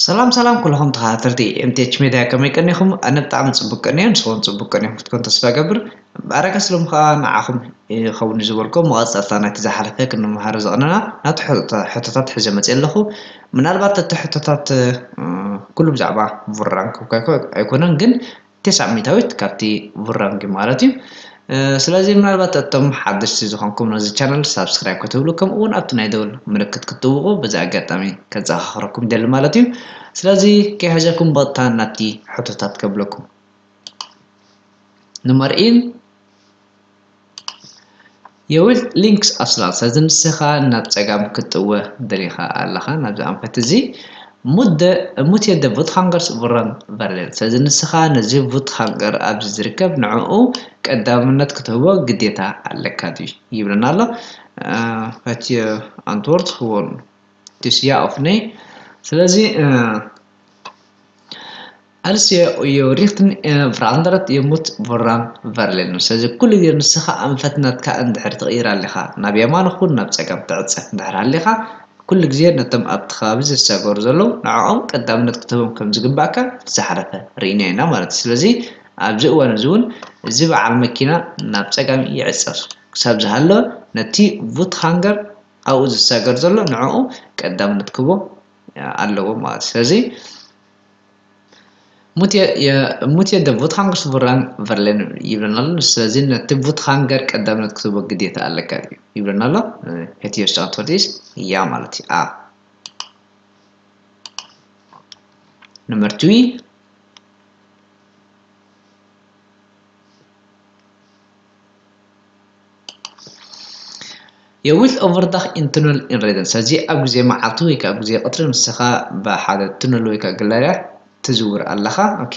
ሰላም ሰላም ኩልኹም ተኸታተልቲ M T H Media፣ ከመይ ቀኒኹም? ኣነ ብጣዕሚ ጽቡቅ ቀኒየ፣ ንስኹም ጽቡቅ ቀኒኹም ክትኮን ተስፋ እገብር። ብኣረገ ስሎም ከኣ ንዓኹም ይኸውን ዝበልኩም መቐጸልታ ናይቲ ዝሓለፈ ክንመሃሮ ዝቐነና ናቱ ሕቶ-፣ ሕቶታት ሒዘ መጽየ ኣለኹ። ምናልባት እቲ ሕቶታት፣ እ፣ ኩሉ ብዛዕባ ቡራን ክብካይኮ ኣይኮነን፣ ግን ተስዓ ሚእታዊት ካብቲ ቡራንጊ ማለት እዩ። እ፣ ስለዚ ምናልባት እቶም ሓደሽቲ ዝኾንኩም ነዚ ቻነል ሳብስክራይብ ክትብሉ፣ ከምኡ እውን ኣብቲ ናይ ደወል ምልክት ክትጥውቑ በዚ ኣጋጣሚ ከዘኻኽረኩም ደሊ ማለት እዩ። ስለዚ ከይሕዘኩም በቕታ ናብቲ ሕቶታት ከብለኩም። ንመርኢን የዊል ሊንክስ ኣስላን፣ ስለዚ ንስኻ ናብ ጸጋም ክትጥወ ደሊኻ ኣለኻ፣ ናብዚ ኣንፈት እዚ። ሙት የ ደ ቡትሃንገርስ ቡራን ቨርሌን፣ ስለዚ ንስኻ ነዚ ቡትሃንገር ኣብዚ ዝርከብ ንዕኡ ቀዳምነት ክትህቦ ግዴታ ኣለካ ድዩ ይብለና ኣሎ። እ፣ ፈትየ ኣንትወርት ክወኑ ቲስያ ኦፍ ነይ። ስለዚ፣ እ፣ ኣልስ የ ሪኽትን፣ እ፣ ቨራንደረት የሙት ቡራን ቨርሌን። ስለዚ ኩሉ ግዜ ንስኻ ኣንፈት ናትካ እንድሕር ትቕይር ኣለኻ፣ ናብ የማን ኹን ናብ ጸጋም ትዕጸፍ እንድሕር ሃሊኻ፣ ኩሉ ግዜ ነቶም ኣብቲ ከባቢ ዝሰገሩ ዘለዉ ንዕኦም ቀዳምነት ክትህቦም ከም ዝግባእካ ዝሓለፈ ርኢና ኢና ማለት እዩ። ስለዚ ኣብዚ እዋን እዚ እውን እዚ በዓል መኪና ናብ ጸጋም ይዕጸፍ ክሳብ ዝሃሎ፣ ነቲ ቡት ሃንገር ኣብኡ ዝሰገር ዘሎ ንዕኡ ቀዳምነት ክህቦ ኣለዎ ማለት እዩ። ስለዚ ሙት የ-፣ የ-፣ ሙት የ ደ ቡት ሃንገርስ ቡራን ቨርሌን ይብለና ኣሎ። ስለዚ ነቲ ቡት ሃንገር ቀዳምነት ክትህቦ ግዴታ ኣለካ እዩ ይብለና ኣሎ። እቲ የሱ ኣንትወርት ኢስ ያ ማለት እዩ። A። Nummer twee. የዊል ኦቨርዳኽ ኢን ቱነል ኢን ሬደን። ስለዚ ኣብ ግዜ መዓልቲ ወይ ከዓ ኣብ ግዜ ቀትሪ ንስኻ ብሓደ ቱነል ወይ ከዓ ግላርያ ትዝውር ኣለኻ። ኦኬ።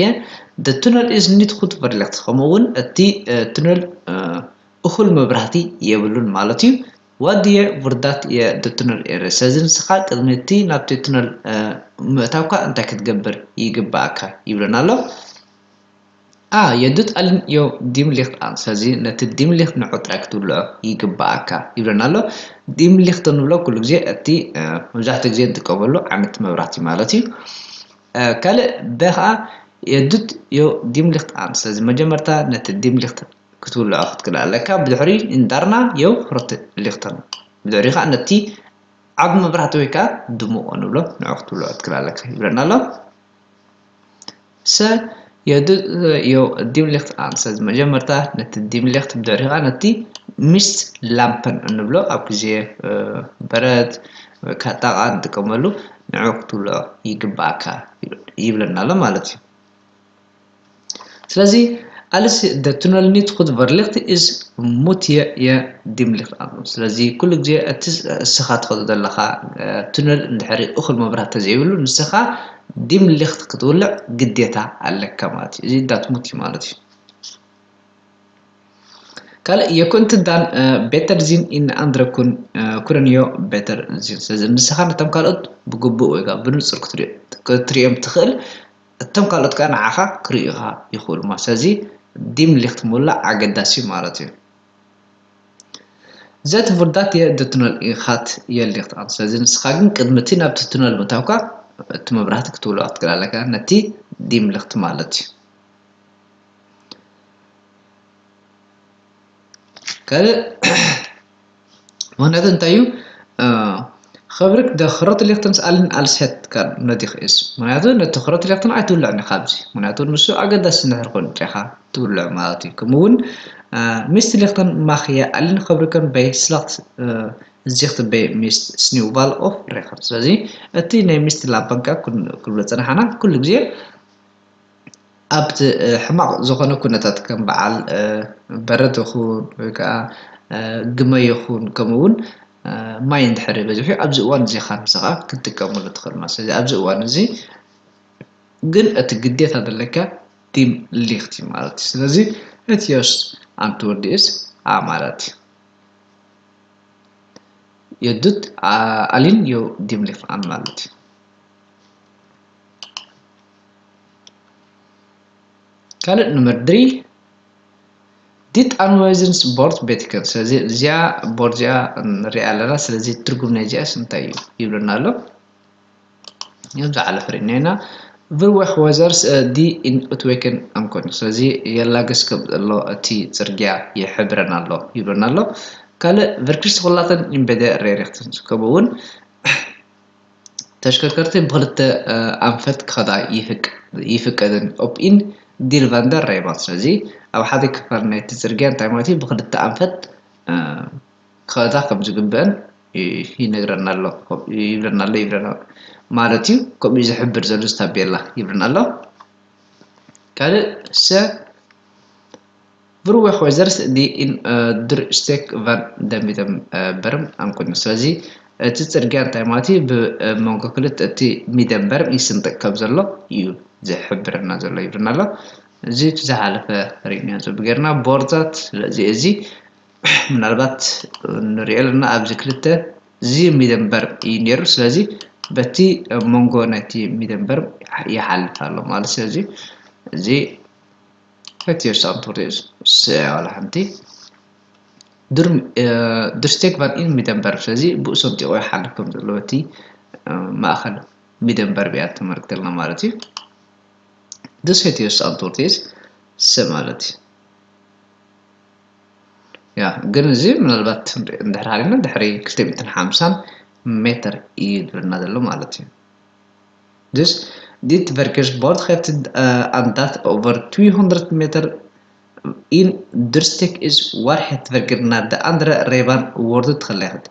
The tunnel is not good for light። ከምኡ እውን እቲ፣ እ፣ ቱነል፣ እ፣ እኹል መብራህቲ የብሉን ማለት እዩ። Wat doe je voordat je de tunnel in rijdt? ስለዚ ንስኻ ቅድሚ እቲ ናብቲ ቱነል፣ እ፣ ምእታውካ እንታይ ክትገብር ይግባኣካ ይብለና ኣሎ። A. Je doet alleen je dimlicht aan. ስለዚ ነቲ ዲም ሊኽት ንዑ ጥራይ ክትውልዖ ይግባኣካ ይብለና ኣሎ። ዲም ሊኽት እንብሎ ኩሉ ግዜ እቲ፣ እ፣ መብዛሕትኡ ግዜ እንጥቀመሉ ዓይነት መብራህቲ ማለት እዩ። እ፣ ካልእ በ ኸዓ je doet je dimlicht aan። ስለዚ መጀመርታ ነቲ ዲም ሊኽት ክትውልዖ ክትክእል ኣለካ። ብድሕሪ እንዳርና የው ሮት ሊኽተን። ብድሕሪ ከዓ ነቲ ዓቢ መብራህቲ ወይ ከዓ ድሙቕ ንብሎ ንዑ ክትውልዖ ክትክእል ኣለካ ይብለና ኣሎ። ሰ የዱ-፣ ዮ ዲም ሊኽት ኣን። ስለዚ መጀመርታ ነቲ ዲም ሊኽት፣ ብድሕሪ ከዓ ነቲ ሚስት ላምፐን እንብሎ ኣብ ግዜ፣ እ፣ በረድ ወይ ከዓ ጣቓ ንጥቀመሉ ንዑ ክትውልዖ ይግባኣካ ይብለና ኣሎ ማለት እዩ። ስለዚ ኣልስ ደ ቱነል ኒት ኹት ቨርሊኽት ኢስ ሙት የ የ ዲም ሊኽት ኣን። ስለዚ ኩሉ ግዜ እቲ እስኻ ትኸዶ ዘለኻ፣ እ፣ ቱነል እንድሕሪ እኹል መብራህቲ ተዘይብሉ ንስኻ ዲም ሊኽት ክትውልዕ ግዴታ ኣለካ ማለት እዩ። እዚ ዳት ሙት እዩ ማለት እዩ። ካልእ የኩንት ዳን፣ እ፣ ቤተር ዚን ኢን ኣንድረ ኩን፣ እ፣ ኩረንዮ ቤተር ዚን። ስለዚ ንስኻ ነቶም ካልኦት ብግቡእ ወይ ከዓ ብንጹር ክትሪኦ-፣ ክትሪኦም ትኽእል፣ እቶም ካልኦት ከዓ ንዓኻ ክርእዩኻ ይኽእሉ ማለት። ስለዚ ዲም ሊኽት ምውላዕ ኣገዳሲ ማለት እዩ። ዘት ቡርዳት የ ደ ቱነል ኢኻት የ ሊኽት ኣን። ስለዚ ንስኻ ግን ቅድሚ እቲ ናብቲ ቱነል ምእታውካ እቲ መብራህቲ ክትውልዖ ክትክእል ኣለካ፣ ነቲ ዲም ሊኽት ማለት እዩ። ካልእ ምኽንያቱ እንታይ እዩ? እ፣ ኸብርክ ደ ኽሮት ሊኽተንስ ኣልን ኣልሰት ካል ነዲኽ እስ። ምኽንያቱ ነቲ ኽሮት ሊኽተን ኣይትውልዕን ኢኻ ኣብዚ። ምኽንያቱ ንሱ ኣገዳሲ እንድሕር ኮይኑ ጥራይ ኢኻ ትውልዕ ማለት እዩ። ከምኡ እውን፣ እ፣ ሚስት ሊኽተን ማኽ የ ኣልን ኸብርከን በይ ስላኽት፣ እ፣ ዚኽት በይ ሚስት ስኒውባል ኦፍ ሬኸር። ስለዚ እቲ ናይ ሚስት ላባንካ ኩን-፣ ክንብሎ ጸናሕና ኩሉ ግዜ ኣብቲ፣ እ፣ ሕማቕ ዝኾነ ኩነታት ከም በዓል፣ እ፣ በረድ ይኹን ወይ ከዓ፣ እ፣ ግመ ይኹን ከምኡ እውን፣ እ፣ ማይ እንድሕር በዚሑ ኣብዚ እዋን እዚ ኢኻ ንስኻ ክትጥቀመሉ ትኽእል ማለት። ስለዚ ኣብዚ እዋን እዚ ግን እቲ ግዴታ ዘለካ ዲም ሊኽት እዩ ማለት እዩ። ስለዚ እቲ ዮስ ኣንትወርድ ኢስ ኣ ማለት እዩ። የዱት፣ ኣ-፣ ኣሊን ዮ ዲም ሊኽት ኣን ማለት እዩ። ካልእ nummer drie፣ ዲት ኣንዋይዝንስ ቦርድ ቤትከን። ስለዚ እዚኣ ቦርድ እዚኣ ንሪኣ ኣለና። ስለዚ ትርጉም ናይ እዚኣስ እንታይ እዩ ይብለና ኣሎ። እዮም ዝሓለፈ ርኢና ኢና። Verwegwijzers die in Ootwijken aankomen። ስለዚ የላግስ ከም ዘሎ እቲ ጽርግያ ይሕብረና ኣሎ ይብለና ኣሎ። ካልእ verkeersgelaten in beide richtingen ከምኡ እውን ተሽከርከርቲ ብክልተ ኣንፈት ክኸዳ ይፍቀድን op een deel van de rijbaan። ስለዚ ኣብ ሓደ ክፋል ናይቲ ጽርግያ እንታይ ማለት እዩ? ብክልተ ኣንፈት ክኸዳ ከም ዝግበአን ይነግረና ኣሎ ይብለና ኣሎ ይብለና ማለት እዩ። ከምኡ ዝሕብር ዘሎ ታቤላ ይብለና ኣሎ። ካልእ ሰ Verwegwijzers die in de steek van de middenberm aankomen። ስለዚ እቲ ጽርግያ እንታይ ማለት እዩ? ብመንጎ ክልተ እቲ ሚደንበርም ይስንጥቅ ከም ዘሎ እዩ ዝሕብረና ዘሎ ይብለና ኣሎ። እዚ እቲ ዝሓለፈ ርኢናዮ ጌርና ቦርታት። ስለዚ እዚ ምናልባት ንሪኦ ኣለና ኣብዚ ክልተ እዚ ሚደንበርም እዩ ነይሩ። ስለዚ በቲ መንጎ ናይቲ ሚደንበርም ይሓልፍ ኣሎ ማለት። ስለዚ እዚ እቲ የሳንቶር ስያ ዋላ ሓንቲ ድርስቴክ ቫን ኢን ሚደንበርም። ስለዚ ብኡ ሰንጢቑ ይሓልፍ ከም ዘለዎ እቲ ማእኸል ሚደንበርም እያ ተመልክተልና ማለት እዩ። Dus het eerste antwoord is C ማለት እዩ። ያ ግን እዚ ምናልባት እንድሕር ሃሊና ድሕሪ ክልተ ሚእትን ሓምሳን ሜትር እዩ ዝብለና ዘሎ ማለት እዩ። Dus dit verkeersbord geeft aan dat over tweehonderd meter in de steek is waar het verkeer naar de andere rijbaan wordt gelegd.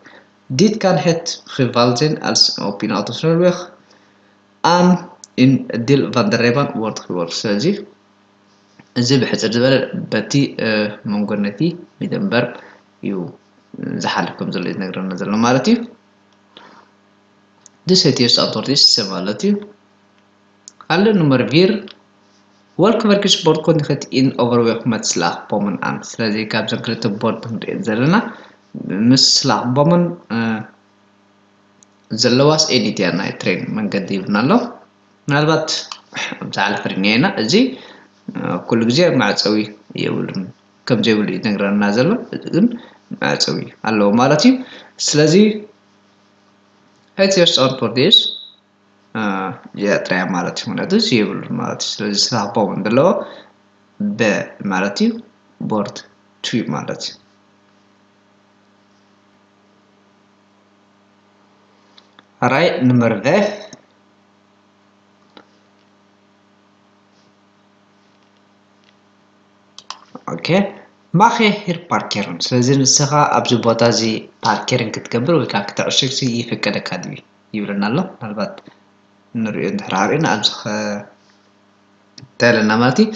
Dit kan het geval zijn als op een autosnelweg aan een deel van de rijbaan wordt geworpen. ስለዚ እዚ ብሕፅር ዝበለ በቲ መንጎ ነቲ ሚደንበር እዩ ዝሓልፍ ከም ዘሎ ዝነግረና ዘሎ ማለት እዩ። Dus het eerste antwoord is C ማለት እዩ። ካልእ nummer vier. Welk verkeersbord kondigt in overweg met slagbomen aan? ስለዚ ካብዘን ክልተ ቦርድ ክንሪኦ ዘለና ምስ slagbomen ዘለዋስ ኤኒትያ ናይ ትሬን መንገዲ ይብልና ኣሎ። ምናልባት ኣብዛ ሓለፈ ርኢናዮ ኢና። እዚ ኩሉ ግዜ መዕፀዊ የብሉን ከም ዘይብሉ ይነግረና ዘሎ፣ ግን መዕፀዊ ኣለዎ ማለት እዩ። ስለዚ እቲ የስዖር ፖርቴስ እዚኣ ጥራያ ማለት እዩ። ምክንያቱ እዚ የብሉን ማለት እዩ። ስለዚ ስላቦም እንደለዎ በ ማለት እዩ። ቦርድ ቱ ማለት እዩ። ራይ nummer vijf. ኦኬ፣ ማኸ ሂር ፓርኬርን። ስለዚ ንስኻ ኣብዚ ቦታ እዚ ፓርኬርን ክትገብር ወይ ከዓ ክትዕሽግ ይፍቀደካ ድዩ ይብለና ኣሎ። ምናልባት ንሪኦ እንድሕር ሃሪእና ኣብዚ እንታይ ኣለና ማለት እዩ።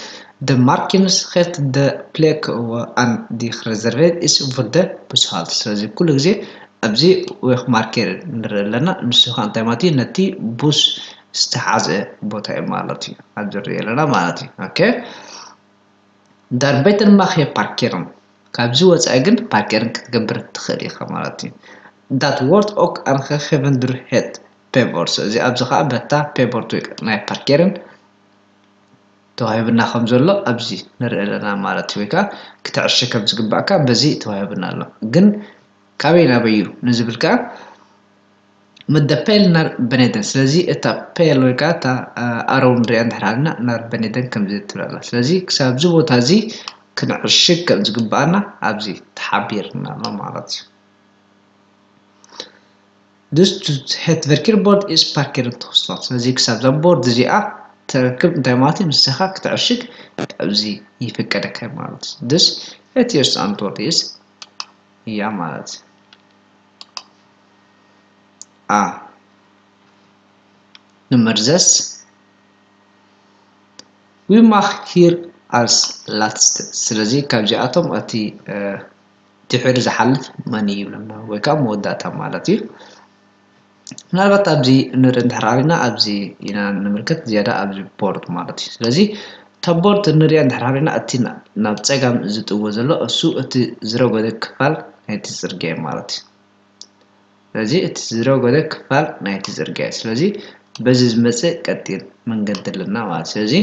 De markings geeft de plek aan die gereserveerd is voor de bushalte። ስለዚ ኩሉ ግዜ ኣብዚ ዌክ ማርኬር ንርኢ ኣለና። ንሱ ከዓ እንታይ ማለት እዩ? ነቲ ቡስ ዝተሓዘ ቦታ እዩ ማለት እዩ። ኣብዚ ንሪኦ ኣለና ማለት እዩ። ኦኬ፣ daarbuiten mag je parkeren። ካብዚ ወፃኢ ግን ፓርኬርን ክትገብር ትኽእል ኢኻ ማለት እዩ። Dat wordt ook aangegeven door het pebord። እዚ ኣብዚ ከዓ በታ ፔቦርድ ወይ ናይ ፓርኬርን ተዋሂብና ከም ዘሎ ኣብዚ ንርኢ ኣለና ማለት እዩ። ወይ ከዓ ክትዕሽግ ከም ዝግባእካ በዚ ተዋሂብና ኣሎ። ግን ካበይ ናበይ እዩ ንዝብል ከዓ መደ ፔል ናር በኔደን። ስለዚ እታ ፔል ወይ ከዓ እታ ኣሮው ንሪኣ እንድሕር ሃልና ናር በኔደን ከምዚ ትብል ኣላ። ስለዚ ክሳብ እዚ ቦታ እዚ ክንዕሽግ ከም ዝግባኣና ኣብዚ ተሓቢርና ኣሎ ማለት እዩ። Dus het verkeersbord is parkeren toegestaan። ስለዚ ክሳብ እዛ ቦርድ እዚኣ ተረክብ እንታይ ማለት እዩ? ንስኻ ክትዕሽግ ኣብዚ ይፍቀደካ ማለት እዩ። Dus het eerste antwoord is ja ማለት እዩ። A. Nummer zes. Wie mag hier als laatste? ስለዚ ካብዚኣቶም እቲ ድሕሪ ዝሓልፍ መን እዩ ይብለና፣ ወይ ከዓ መወዳእታ ማለት እዩ። ምናልባት ኣብዚ ንርኢ እንድሕር ኣሪና ኣብዚ ኢና ንምልከት ዝያዳ ኣብዚ ቦርድ ማለት እዩ። ስለዚ እታ ቦርድ ንሪኣ እንድሕር ኣሪና እቲ ናብ ፀጋም ዝጥዎ ዘሎ እሱ እቲ ዝረጎደ ክፋል ናይቲ ፅርግያ እዩ ማለት እዩ። ስለዚ እቲ ዝረጎደ ክፋል ናይቲ ፅርግያ እዩ። ስለዚ በዚ ዝመፅእ ቀጢን መንገዲ ኣለና ማለት እዩ። ስለዚ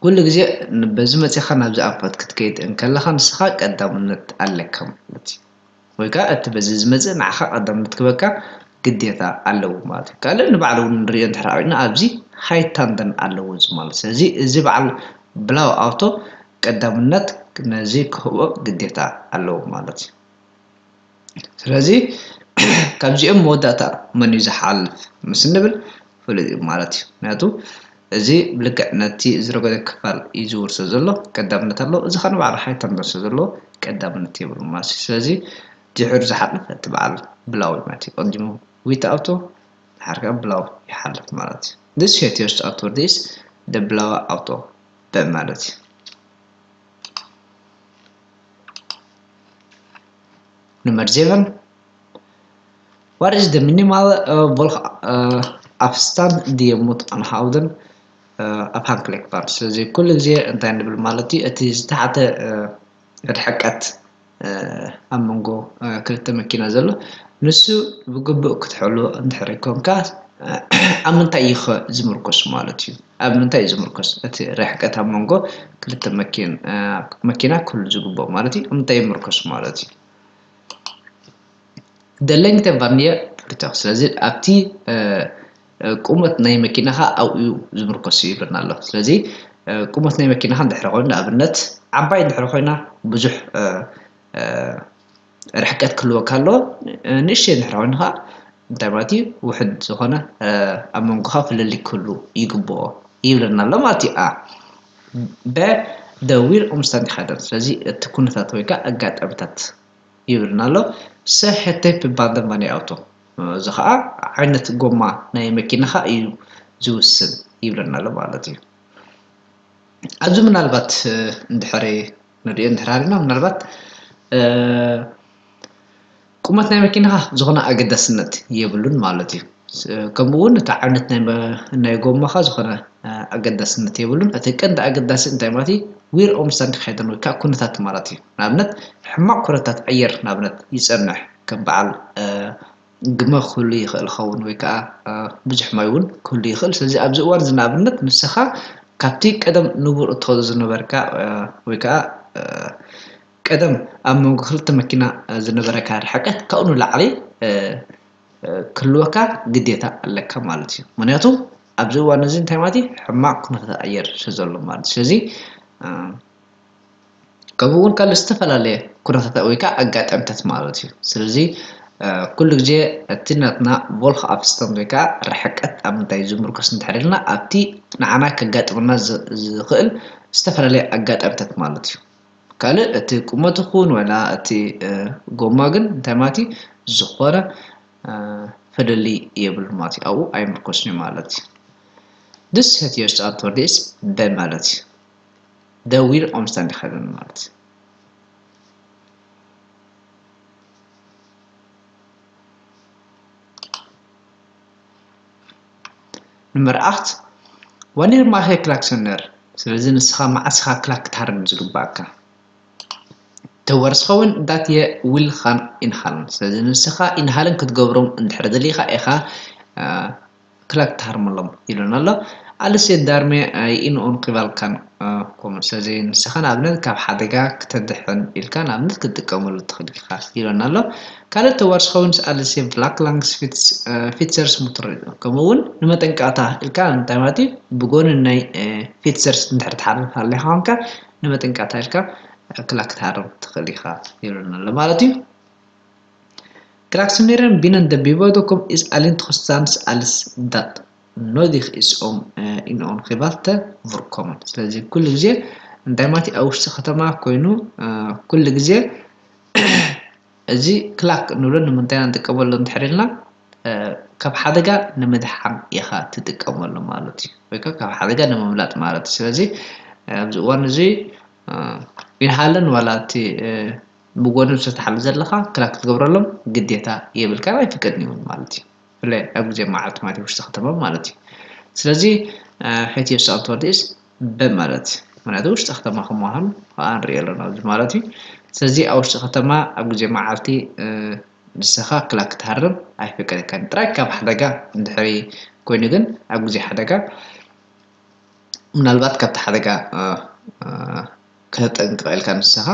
ኩሉ ግዜ በዚ መፂኻ ናብዚ ኣንፈት ክትከይድ እንከለኻ ንስኻ ቀዳምነት ኣለካ ማለት እዩ። ወይ ከዓ እቲ በዚ ዝመፅእ ንዓኻ ቀዳምነት ክበካ ግዴታ ኣለዎ ማለት እዩ። ካልእ ንባዕሉ እውን ንሪኦ እንድሕር ኢና ኣብዚ ሃይታንደን ኣለዎ እዚ ማለት። ስለዚ እዚ በዓል ብላው ኣውቶ ቀዳምነት ነዚ ክህቦ ግዴታ ኣለዎ ማለት እዩ። ስለዚ ካብዚኦም መወዳእታ መን እዩ ዝሓልፍ ምስ እንብል ፍሉጥ እዩ ማለት እዩ። ምክንያቱ እዚ ብልክዕ ነቲ ዝረገደ ክፋል እዩ ዝውርሶ ዘሎ ቀዳምነት ኣለዎ። እዚ ከ ንባዕሉ ሃይታንደን ስለ ዘለዎ ቀዳምነት የብሉ ማለት እዩ። ስለዚ ድሕሩ ዝሓለፈ እቲ በዓል ብላው እዩ ማለት እዩ። ቀዲሙ ዊት ኣውቶ ድሓር ከዓ ብላው ይሓልፍ ማለት እዩ። This hetiost authorities the ብላው ኣውቶ በማለት እዩ። Nummer zeven. Wat is de minimaal uh, volg uh, afstand die je moet aanhouden uh, afhankelijk van? ስለዚ ኩሉ ግዜ እንታይ ንብል ማለት እዩ? እቲ ዝተሓተ ርሕቀት ኣብ መንጎ ክልተ መኪና ዘሎ ንሱ ብግቡእ ክትሕሉ እንድሕር ኮንካ ኣብ ምንታይ እዩ ዝምርኮስ ማለት እዩ? ኣብ ምንታይ እዩ ዝምርኮስ እቲ ርሕቀት ኣብ መንጎ ክልተ መኪና ክህሉ ዝግብኦ ማለት እዩ? ኣብ ምንታይ ይምርኮስ ማለት እዩ? ደለንግተ ቫንየ ፕሪተክ ስለዚ ኣብቲ ቁመት ናይ መኪናኻ ኣብኡ ዝምርኮስ እዩ ይብለና ኣሎ። ስለዚ ቁመት ናይ መኪናኻ እንድሕር ኮይኑ ንኣብነት ዓባይ እንድሕር ኮይና ብዙሕ ርሕቀት ክህልወካ ኣለዎ። ንእሽተይ እንድሕር ኮይኑ ከዓ እንታይ ማለት እዩ? ውሕድ ዝኾነ ኣብ መንጎኻ ፍልልይ ክህሉ ይግብኦ ይብለና ኣሎ ማለት እዩ። ኣ በ ደ ዊር ኦምስታንድ ይኸደን ስለዚ እቲ ኩነታት ወይ ከዓ ኣጋጣሚታት ይብልና ኣሎ። ሰ ሄቴፕ ባንደን ቫኒ ኣውቶ እዚ ከዓ ዓይነት ጎማ ናይ መኪናኻ እዩ ዝውስን ይብለና ኣሎ ማለት እዩ። ኣብዚ ምናልባት እንድሕር ንሪኦ እንድሕር ሃልና ምናልባት ቁመት ናይ መኪናኻ ዝኾነ ኣገዳስነት የብሉን ማለት እዩ። ከምኡ እውን እቲ ዓይነት ናይ ጎማኻ ዝኾነ ኣገዳስነት የብሉን። እቲ ቀንዲ ኣገዳሲ እንታይ ማለት እዩ? ዊር ኦምስታንድ ክኸይደን ወይ ከዓ ኩነታት ማለት እዩ። ንኣብነት ሕማቕ ኩነታት ኣየር ንኣብነት ይፀንሕ ከም በዓል ግመ ክህሉ ይኽእል ኸውን ወይ ከዓ ብዙሕ ማይ እውን ክህሉ ይኽእል። ስለዚ ኣብዚ እዋን እዚ ንኣብነት ንስኻ ካብቲ ቀደም ንቡር እትኸዶ ዝነበርካ ወይ ከዓ ቀደም ኣብ መንጎ ክልተ መኪና ዝነበረካ ርሕቀት ካብኡ ንላዕሊ ክህልወካ ግዴታ ኣለካ ማለት እዩ። ምክንያቱ ኣብዚ እዋን እዚ እንታይ ማለት እዩ? ሕማቕ ኩነታት ኣየር ስለ ዘሎ ማለት እዩ። ስለዚ ከምኡ እውን ካልእ ዝተፈላለየ ኩነታት ወይ ከዓ ኣጋጣሚታት ማለት እዩ። ስለዚ ኩሉ ግዜ እቲ ናትና ቮልክ ኣፍስታንድ ወይ ከዓ ርሕቀት ኣብ ምንታይ ዝምርኮስ እንድሕር ኢልና ኣብቲ ንዓና ከጋጥመና ዝኽእል ዝተፈላለየ ኣጋጣሚታት ማለት እዩ። ካልእ እቲ ቁመት ይኹን ወላ እቲ ጎማ ግን እንታይ ማለት እዩ? ዝኾነ ፍልልይ የብሉ ማለት እዩ። ኣብኡ ኣይምርኮስን እዩ ማለት እዩ። Dus het juiste antwoord is በ ማለት እዩ። De wier omstandigheden ማለት እዩ። Nummer acht. Wanneer mag je klaksoneren? ስለዚ ንስኻ መዓስ ኢኻ ክላክ ክትሃርም ዝግባእካ? Te waarschuwen dat je wil gaan inhalen. ስለዚ ንስኻ ኢንሃልን ክትገብሮም እንድሕር ደሊኻ ኢኻ ክላክ ትሃርመሎም ይብለና ኣሎ። Als je daarmee in ongeval kan komen. ስለዚ ንስኻ ንኣብነት ካብ ሓደጋ ክተድሕን ኢልካ ንኣብነት ክትጥቀመሉ ትኽእል ኢኻ ይብለና ኣሎ። ካልእ te waarschuwen als je vlak langs fietsers moet rijden. ከምኡ እውን ንመጠንቀቕታ ኢልካ እንታይ ማለት እዩ? ብጎኒ ናይ ፊትሰርስ እንድሕር ትሓልፍ ኣለኻ ኮንካ ንመጠንቀቕታ ኢልካ ክላክ ክትሃርም ትኽእል ኢኻ ይብለና ኣሎ ማለት እዩ። Klaksoneren binnen de bebouwde kom is alleen toegestaan als dat nodig is om in ongeval te voorkomen. ስለዚ ኩሉ ግዜ እንታይ ማለት እዩ? ኣብ ውሽጢ ከተማ ኮይኑ ኩሉ ግዜ እዚ ክላክ ንብሎ ንምንታይ ኢና ንጥቀመሉ እንድሕር ኢልና ካብ ሓደጋ ንምድሓን ኢኻ ትጥቀመሉ ማለት እዩ። ወይ ከዓ ካብ ሓደጋ ንምምላጥ ማለት እዩ። ስለዚ ኣብዚ እዋን እዚ ኢንሃልን ዋላ እቲ ብጎኒ ዝተትሓሉ ዘለኻ ክላክ ክትገብረሎም ግዴታ የብልካን ኣይፍቀድን እውን ማለት እዩ። ብፍላይ ኣብ ግዜ መዓልቲ ማለት እዩ ውሽጢ ከተማ ማለት እዩ። ስለዚ ሕቲ የሱ ኣንቶርዲስ በ ማለት እዩ። ምክንያቱ ውሽጢ ከተማ ከም ምዃኑ ከዓ ንሪኦ ኣለና ኣብዚ ማለት እዩ። ስለዚ ኣብ ውሽጢ ከተማ ኣብ ግዜ መዓልቲ ንስኻ ክላክ ክትሃርም ኣይፍቀደካን ጥራይ ካብ ሓደጋ እንድሕሪ ኮይኑ ግን ኣብ ግዜ ሓደጋ ምናልባት ካብቲ ሓደጋ ከተጠንቅቐ ኢልካ ንስኻ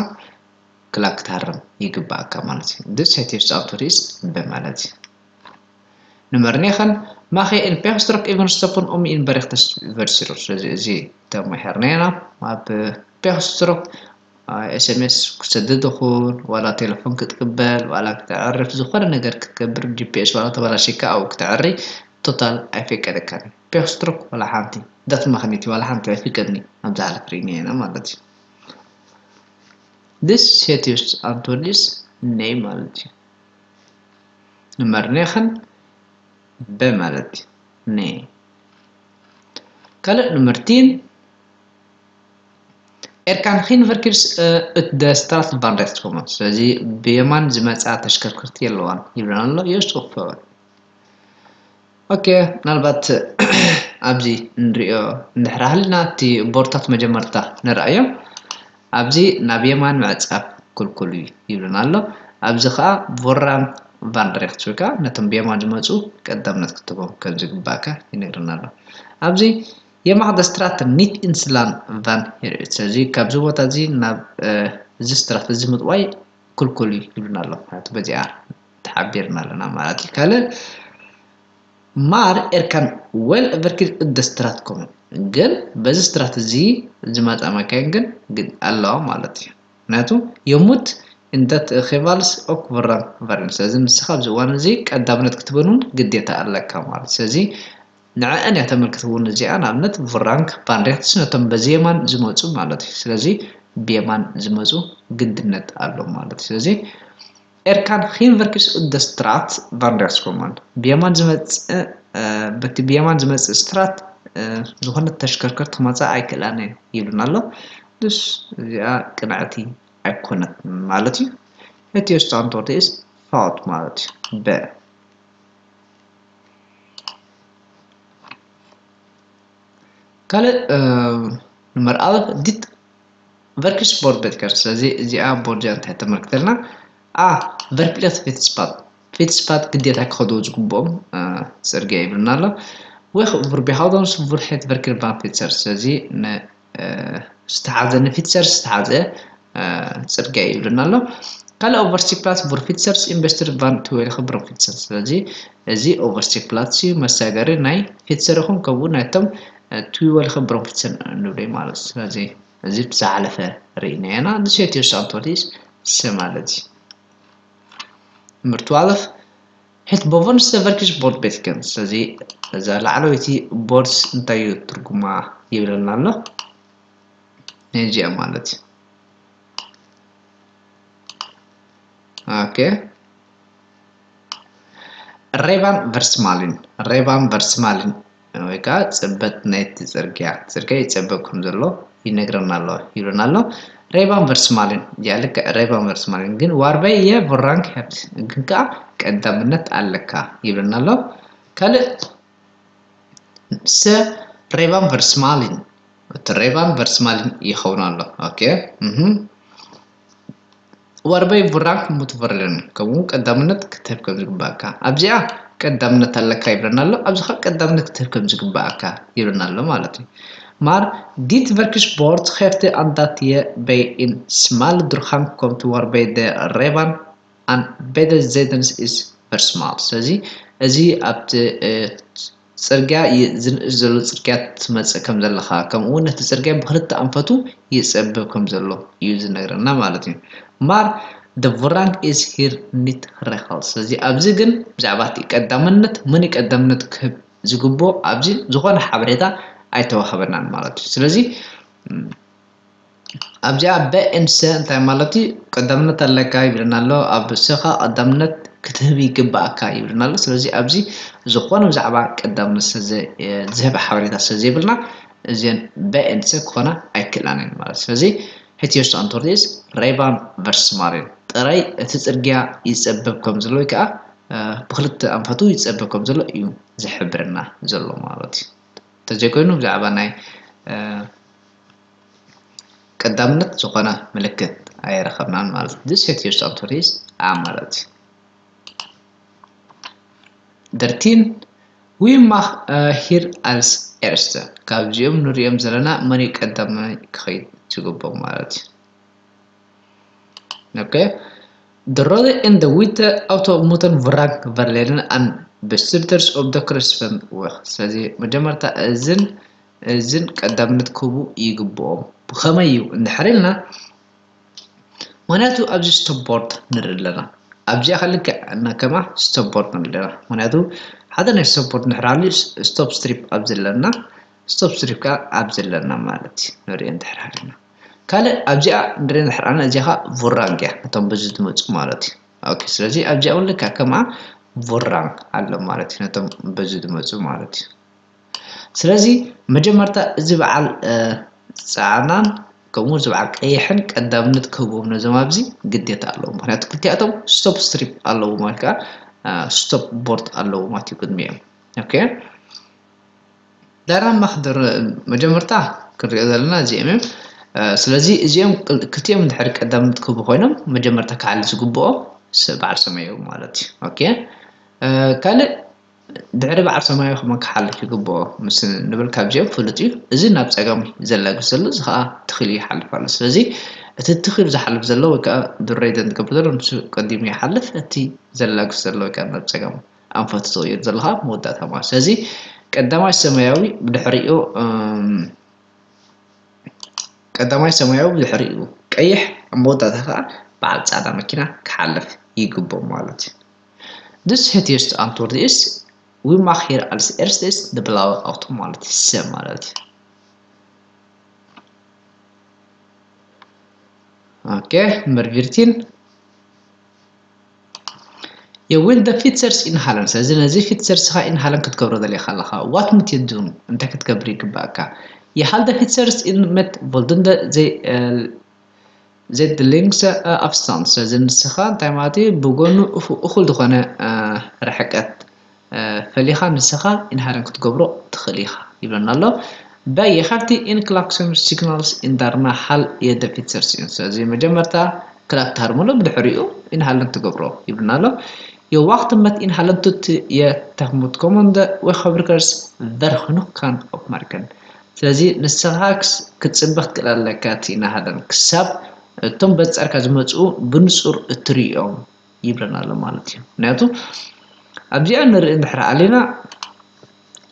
ክላክ ክትሃርም ይግባኣካ ማለት እዩ። This set yourself to risk በማለት እዩ። Nummer negen, mag je een pechstrook even stoppen om een bericht te versturen? ስለዚ እዚ ተማሂርና ኢና። ኣብ ፔክስትሮክ ኤስኤምኤስ ክሰድድ ይኹን ዋላ ቴሌፎን ክትቅበል ዋላ ክተዕርፍ ዝኾነ ነገር ክትገብር ጂፒኤስ ዋላ ተበላሽካ ኣብኡ ክተዕሪ ቶታል ኣይፈቀደካን። ፔክስትሮክ ዋላ ሓንቲ ዳት ማክኒቲ ዋላ ሓንቲ ኣይፍቀድኒ። ኣብዛ ሓለፍ ርኢና ኢና ማለት እዩ። This set your antwoord is nee ማለት እዩ። Nummer negen, B ማለት እዩ። Nee. ካልእ nummer tien, er kan geen verkeers uh, uit de straat van rechts komen. ስለዚ ብየማን ዝመፃ ተሽከርከርቲ የለዋን ይብለና ኣሎ። Juist of fout? ኦኬ፣ ምናልባት ኣብዚ እንሪኦ እንድሕር ሃልና እቲ ቦርታት መጀመርታ ንርኣዮ። ኣብዚ ናብ የማን ምዕጻፍ ክልኩል እዩ ይብለና ኣሎ። ኣብዚ ከዓ ቮራን ቫንድሬክት ወይ ከዓ ነቶም ብየማን ዝመፁ ቀዳምነት ክትቦም ከም ዝግባእካ ይነግረና ኣሎ። ኣብዚ የማኽደ ስትራት ኒት ኢንስላን ቫን ሄርት። ስለዚ ካብዚ ቦታ እዚ ናብ እዚ ስትራት እዚ ምጥዋይ ክልኩል እዩ ይብለና ኣሎ። ምክንያቱ በዚኣ ተሓቢርና ኣለና ማለት እዩ። ካልእ ማር ኤርካን ወል ቨርኪድ እደ ስትራት ኮመን ግን በዚ ስትራት እዚ ዝመፃ መካይን ግን ኣለዋ ማለት እዩ። ምክንያቱ የሙት እንተት ኼቫልስ ኦክ ቮራን ቫሪን። ስለዚ ንስኻ ኣብዚ እዋን እዚ ቀዳምነት ክትበን እውን ግዴታ ኣለካ ማለት። ስለዚ ንዕአን እያ ተመልክት እውን እዚኣ ንኣብነት ቮራንክ ቫንሬክትስ ነቶም በዚ የማን ዝመፁ ማለት እዩ። ስለዚ ብየማን ዝመፁ ግድነት ኣሎ ማለት እዩ። ስለዚ ኤርካን ኺንቨርኪስ እደ ስትራት ቫንሬክትስ ኮማን ብየማን ዝመፅእ በቲ ብየማን ዝመፅእ ስትራት ዝኾነ ተሽከርከርቲ ክመፃ ኣይክእላን እየን ይብልና ኣሎ። ድስ እዚኣ ቅንዕቲ ኣይኮነት ማለት እዩ። እቲ ስታንቶርት ኢስ ፋውት ማለት እዩ። በ ካልእ nummer elf dit verkiesbord beter. ስለዚ እዚኣ ቦርድ እንታይ ተመልክተልና? A verplicht fietspad. ፊትስፓት ግዴታ ክኸድዎ ዝግብኦም ፅርግያ ይብልና ኣሎ። ወይ ቡርቢሃውዶንስ ቡርሄት ቨርኪር ባን ፊትሰር። ስለዚ ዝተሓዘ ንፊትሰር ዝተሓዘ ፅርግያ ይብልና ኣሎ። ካልእ ኦቨርሲፕላስ ቡር ፊትሰርስ ኢንቨስትር ባን ትወይል ክብሮም ፊትሰር። ስለዚ እዚ ኦቨርሲፕላስ እዩ መሳገሪ ናይ ፊትሰር ይኹን ከምኡ ናይቶም ትዊወል ክብሮም ፊትሰር ንብሎ ማለት እዩ። ስለዚ እዚ ብዝሓለፈ ርኢና ኢና። ንሴትዮ ሳንቶሊስ ስ ማለት እዩ። ምርትዋለፍ ሄት ቦቨንስ ቨርኪስ ቦርድ ቤትከን። ስለዚ እዛ ላዕለወይቲ ቦርድስ እንታይ እዩ ትርጉማ ይብለና ኣሎ። ነዚኣ ማለት እዩ። ኦኬ ሬቫን ቨርስማሊን ሬቫን ቨርስማሊን ወይ ከዓ ፅበት ናይቲ ፅርግያ ፅርግያ ይፀበብ ከም ዘሎ ይነግረና ኣሎ ይብለና ኣሎ። ሬቫን ቨርስማሊን እዚኣ ልክዕ ሬቫን ቨርስማሊን ግን ዋርበይ የቮራንክ ሄብት ግን ከዓ ቀዳምነት ኣለካ ይብለና ኣሎ። ካልእ ሰ ሬቫን ቨርስማሊን እቲ ሬቫን ቨርስማሊን ይኸውን ኣሎ። ኦኬ ዋርበይ ቡራክ ሙትቨርልን ከምኡ ቀዳምነት ክትህብ ከም ዝግባእካ ኣብዚኣ ቀዳምነት ኣለካ ይብለና ኣሎ። ኣብዚ ከዓ ቀዳምነት ክትህብ ከም ዝግባእካ ይብለና ኣሎ ማለት እዩ። Maar dit verkiesbord geeft aan dat je bij een smal doorgang komt waarbij de rijbaan aan beide zijden is versmald. ስለዚ እዚ ኣብቲ ፅርግያ ዝንእስ ዘሎ ፅርግያ ትመፅእ ከም ዘለኻ ከምኡ እውን ነቲ ፅርግያ ብክልተ ኣንፈቱ ይፀብብ ከም ዘሎ እዩ ዝነግረና ማለት እዩ። Maar de voorrang is hier niet geregeld. ስለዚ ኣብዚ ግን ብዛዕባ እቲ ቀዳምነት መን ቀዳምነት ክህብ ዝግብኦ ኣብዚ ዝኾነ ሓበሬታ ኣይተዋህበናን ማለት እዩ። ስለዚ ኣብዚኣ በ ኤን ሰ እንታይ ማለት እዩ? ቀዳምነት ኣለካ ይብለና ኣሎ። ኣብ ሰኻ ቀዳምነት ክትህብ ይግባእካ ይብለና ኣሎ። ስለዚ ኣብዚ ዝኾነ ብዛዕባ ቀዳምነት ዝህብ ሓበሬታ ስለ ዘይብልና እዚን በ ኤን ሰ ክኾና ኣይክእላን እየን ማለት። ስለዚ ሕትዮስ ኣንቶርቲስ ሬባን ቨርስ ማሪን ጥራይ እቲ ፅርግያ ይፀበብ ከም ዘሎ ወይ ከዓ ብክልተ ኣንፈቱ ይፀበብ ከም ዘሎ እዩ ዝሕብረና ዘሎ ማለት እዩ። እንተዘይኮይኑ ብዛዕባ ናይ ቀዳምነት ዝኾነ ምልክት ኣይረኸብናን ማለት እዩ። This set your authorities a ማለት እዩ። Dertien, wie mag hier als eerste? ካብዚኦም ንሪኦም ዘለና መን እዩ ቀዳማይ ክኸይድ ዝግብኦም ማለት እዩ። ኦኬ De rode en de witte auto moeten voorrang verlenen aan Bestriders of the Christenweg። ስለዚ መጀመርታ እዝን እዝን ቀዳምነት ክህቡ ይግብኦም። ብኸመይ እዩ እንድሕር ኢልና፣ ምክንያቱ ኣብዚ stop board ንርኢ ኣለና። ኣብዚኣ ከ ልክዕ እና ከማ stop board ንርኢ ኣለና። ምክንያቱ ሓደ ናይ stop board እንድሕር ሃልዩ stop strip ኣብ ዘለና፣ stop strip ከኣ ኣብ ዘለና ማለት እዩ። ንርኢ እንድሕር ሃልና። ካልእ ኣብዚኣ ንርኢ እንድሕር ኣና እዚኣ ከኣ ቡራንግ እያ፣ ነቶም በዚ ዝመጹ ማለት እዩ። ኦኬ፣ ስለዚ ኣብዚኣ እውን ልክዕ ከማ ቡራንግ ኣሎ ማለት እዩ፣ ነቶም በዚ ዝመጹ ማለት እዩ። ስለዚ መጀመርታ እዚ በዓል፣ እ፣ ጻዕዳን ከምኡ እዚ በዓል ቀይሕን ቀዳምነት ክህብዎም ነዞም ኣብዚ ግዴታ ኣለዎም። ምክንያቱ ክልቲኣቶም stop strip ኣለዎም ወይ ከኣ፣ እ፣ stop board ኣለዎም ማለት እዩ ቅድሚኦም። ኦኬ። ዳራ ማክደር መጀመርታ ክንሪኦ ዘለና እዚኦም እዮም። እ፣ ስለዚ እዚኦም ክል-፣ ክልቲኦም እንድሕር ቀዳምነት ክህቡ ኮይኖም መጀመርታ ክሓሊ ዝግብኦ ስ-፣ በዓል ሰማያዊ ማለት እዩ። ኦኬ። እ፣ ካልእ ድሕሪ በዓል ሰማያዊ ከመ ክሓልፍ ይግብኦ ምስ ንብል ካብዚኦም ፍሉጥ እዩ። እዚ ናብ ጸጋም ዘላግስ ዘሎ እዚ ከኣ ትኽል ይሓልፍ ኣሎ። ስለዚ እቲ ትኽል ዝሓልፍ ዘሎ ወይ ከኣ ድረይ ዘንትገብር ዘሎ ንሱ ቀዲሙ ይሓልፍ። እቲ ዘላግስ ዘሎ ወይ ከኣ ናብ ጸጋም ኣንፈቱ ዝቕይር ዘሎ ከኣ መወዳእታ ማለት። ስለዚ ቀዳማይ ሰማያዊ ብድሕሪኡ፣ እም፣ ቀዳማይ ሰማያዊ ብድሕሪኡ ቀይሕ ኣብ መወዳእታ ከኣ በዓል ጻዕዳ መኪና ክሓልፍ ይግብኦ ማለት እዩ። Dus het juiste antwoord is, wie mag hier als eerste is de blauwe auto ማለት እዩ፣ ሰ ማለት እዩ። ኦኬ፣ nummer veertien. Je wil de fietsers inhalen. ስለዚ ነዚ ፊትሰርስ ኻ ኢንሃለን ክትገብሮ ደሊኻ ኣለኻ። Wat moet je doen? እንታይ ክትገብር ይግባእካ? Je haalt de fietsers in met voldoende ze-, eh, ze de links, eh, afstand. ስለዚ ንስኻ እንታይ ማለት እዩ? ብጎኑ እኹ-፣ እኹል ዝኾነ፣ እ፣ ርሕቀት፣ እ፣ ፈሊኻ ንስኻ ኢንሃለን ክትገብሮ ትኽእል ኢኻ ይብለና ኣሎ። Bij je geeft die in klakson signals in daarna haal je de fietsers in. ስለዚ መጀመርታ ክላክ ትሃርመሉ፣ ብድሕሪኡ ኢንሃለን ትገብሮ ይብለና ኣሎ። Je wacht met inhalen tot je tegemoetkomende weggebruikers ver genoeg kan opmerken. ስለዚ ንስኻ ክስ-፣ ክትጽበ ክትክእል ኣለካ፣ እቲ ኢንሃለን ክሳብ እቶም በጻርካ ዝመጽኡ ብንጹር እትርእዮም ይብለና ኣሎ ማለት እዩ። ምክንያቱ ኣብዚኣ ንርኢ እንድሕር ኣሊና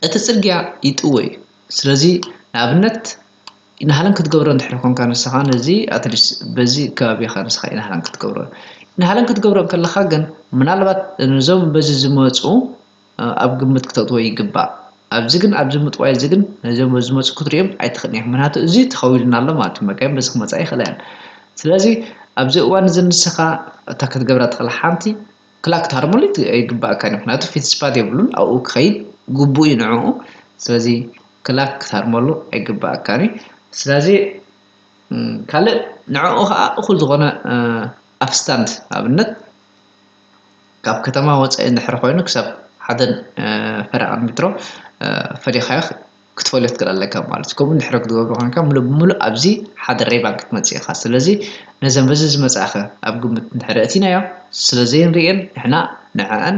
እቲ ጽርግያ ይጥወ እዩ። ስለዚ ንኣብነት ኢንሃለን ክትገብሮ እንድሕር ኮንካ ንስኻ ነዚ ኣትሊስት በዚ ከባቢኻ ንስኻ ኢንሃለን ክትገብሮ፣ ኢንሃለን ክትገብሮ እንከለኻ ግን ምናልባት ነዞም በዚ ዝመጹ እ፣ ኣብ ግምት ክተእትዎ ይግባእ። ኣብዚ ግን፣ ኣብዚ ምጥዋይ እዚ ግን ነዞም ዝመጹ ክትሪኦም ኣይትኽእልን ኢኻ። ምክንያቱ እዚ ተኸዊልና ኣሎ ማለት እዩ። መካይን በዚ ክመጻ ይኽእላ እየን። ስለዚ ኣብዚ እዋን እዚ ንስኻ እታ ክትገብራ ትኽእል ሓንቲ ክላክ ክትሃርመሉ ይት-፣ ይግባእካ እዩ። ምክንያቱ ፊት ስፓት የብሉን፣ ኣብኡ ክኸይድ ግቡእ እዩ ንዕኡ። ስለዚ ክላክ ክትሃርመሉ ኣይግባእካን እዩ። ስለዚ፣ እም፣ ካልእ ንዕኡ ኸኣ እኹል ዝኾነ፣ እ፣ ኣፍስታንድ ኣብነት ካብ ከተማ ወጻኢ እንድሕር ኮይኑ ክሳብ ሓደ፣ እ፣ ፈረቓ ሜትሮ፣ እ፣ ፈሊኻዮ ክትፈልዮ ትክእል ኣለካ ማለት እዩ። ከምኡ እንድሕር ክትገብሮ ኮንካ ምሉእ ብምሉእ ኣብዚ ሓደ ሬባን ክትመጽእ ኢኻ። ስለዚ ነዘን በዚ ዝመጻእኸ ኣብ ግምት እንድሕር ኣእቲናዮ ስለ ዘይንርእየን ንሕና ንዕአን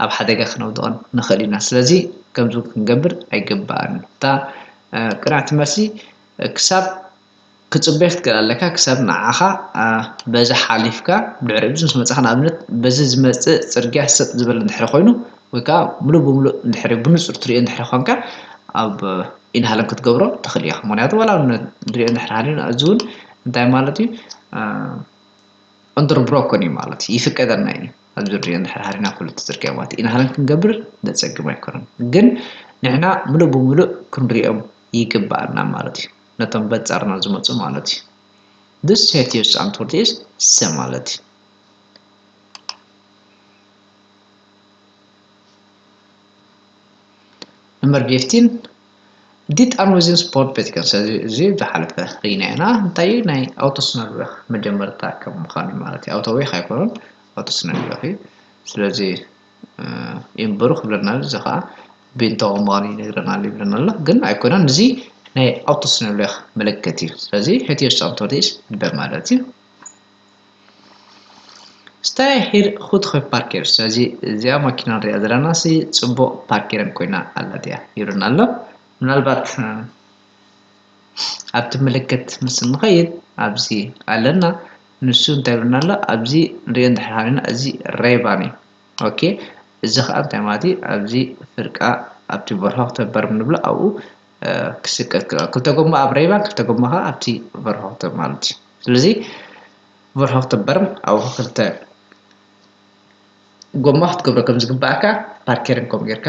ኣብ ሓደጋ ክነውድቐን ንኽእል ኢና። ስለዚ ከምዚ ክንገብር ኣይግባእን። እታ፣ እ፣ ቅንዕቲ መልሲ፣ እ፣ ክሳብ ክትጽበይ ክትክእል ኣለካ ክሳብ ንዓኻ፣ እ፣ በዚ ሓሊፍካ ድሕሪ እዚ ምስ መጻኻ ንኣብነት በዚ ዝመጽእ ጽርግያ ሰጥ ዝበለ እንድሕር ኮይኑ ወይ ከኣ ምሉእ ብምሉእ እንድሕር ብንጹር ትርእዮ እንድሕር ኮንካ ኣብ ኢንሃለን ክትገብሮ ትኽእል ኢኻ። ምክንያቱ ዋላ እውን ንሪኦ እንድሕር ሃሊና እዚ እውን እንታይ ማለት እዩ? እ፣ ኦንደር ብሮኮን እዩ ማለት እዩ። ይፍቀደና እዩ። ኣብዚ ንሪኦ እንድሕር ሃሊና ኩሉ እቲ ጽርግያ ማለት እዩ። ኢንሃለን ክንገብር ዘጸግም ኣይኮነን። ግን ንሕና ምሉእ ብምሉእ ክንሪኦም ይግባኣና ማለት እዩ። ነቶም በጻርና ዝመጹ ማለት እዩ። Dus het juiste antwoord is C ማለት እዩ። Nummer vijftien. Dit aanwijzing spoorbetekenis. እዚ፣ እዚ ዝሓለፈ ርኢና ኢና። እንታይ እዩ? ናይ ኣውቶስነልወኽ መጀመርታ ከም ምዃኑ ማለት እዩ። ኣውቶዌኽ ኣይኮነን፣ ኣውቶስነልወኽ እዩ። ስለዚ፣ እ፣ ይንበሩ ክብለና ኣሎ። እዚ ኸዓ ብእንተ ምዃኑ ይነግረና ኣሎ ይብለና ኣሎ። ግን ኣይኮነን፣ እዚ ናይ ኣውቶስነልወኽ ምልክት እዩ። ስለዚ het juiste antwoord is B ማለት እዩ። Sta je hier goed geparkeerd? ስለዚ እዚኣ ማኪና ንሪኣ ዘለና ሲ ጽቡቕ ፓርኪረን ኮይና ኣላ ድያ ይብለና ኣሎ። ምናልባት፣ እ፣ ኣብቲ ምልክት ምስ ንኸይድ ኣብዚ ኣለና። ንሱ እንታይ ይብለና ኣሎ? ኣብዚ ንሪኦ እንድሕር ሃሊና እዚ ሬባን እዩ። ኦኬ፣ እዚ ከዓ እንታይ ማለት እዩ? ኣብዚ ፍርቃ ኣብቲ ቨርሆክተበርም ንብሎ ኣብኡ ክስቀል ክልተ ጎማ ኣብ ሬባን ክልተ ጎማ ከዓ ኣብቲ ቨርሆክተር ማለት እዩ። ስለዚ ቨርሆክተበርም ኣብኡ ክልተ ጎማ ክትገብሮ ከም ዝግባእካ ፓርከርን ከም ጌርካ